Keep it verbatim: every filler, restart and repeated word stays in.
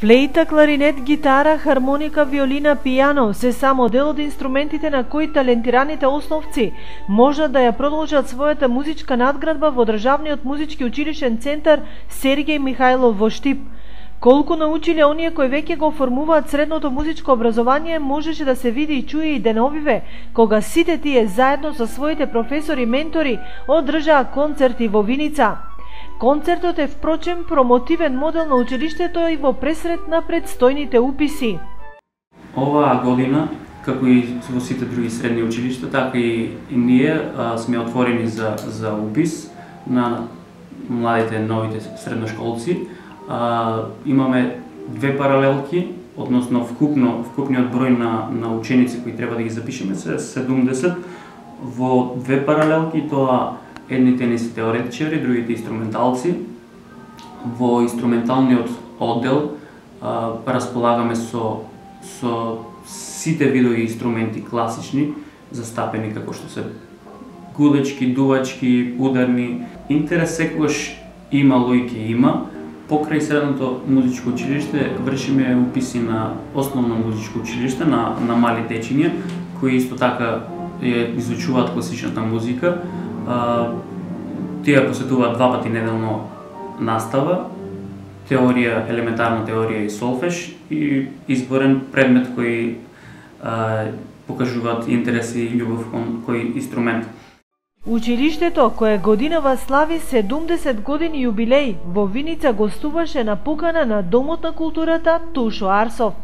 Флейта, кларинет, гитара, хармоника, виолина, пијано се само дел од инструментите на кои талентираните основци можат да ја продолжат својата музичка надградба во Државниот музички училишен центар Сергеј Михајлов во Штип. Колку научиле оние кои веќе го формуваат средното музичко образование, можеше да се види и чуе и деновиве, кога сите тие заедно со своите професори и ментори одржаа концерти во Виница. Концертот е впрочем промотивен модел на училиштето и во пресрет на предстојните уписи. Оваа година, како и во сите други средни училишта, така и, и ние а, сме отворени за, за упис на младите, новите средношколци. А, имаме две паралелки, односно вкупно, вкупниот број на, на ученици кои треба да ги запишеме се седумдесет. Во две паралелки тоа едните не се теоретичари, другите инструменталци. Во инструменталниот оддел а, располагаме со, со сите видови инструменти класични, застапени како што се гудечки, дувачки, ударни. Интерес секогаш имало и ќе има. Покрај средното музичко училиште вршиме уписи на основно музичко училиште на, на мали дечиња, кои исто така ја изучуваат класичната музика. Uh, тие посетуваат два пати неделно настава, теорија, елементарна теорија и солфеж и изборен предмет кој uh, покажуваат интерес и љубов кон кој инструмент. Училиштето, кое годинава слави седумдесет години јубилеј, во Виница гостуваше на покана на Домот на културата Тушо Арсов.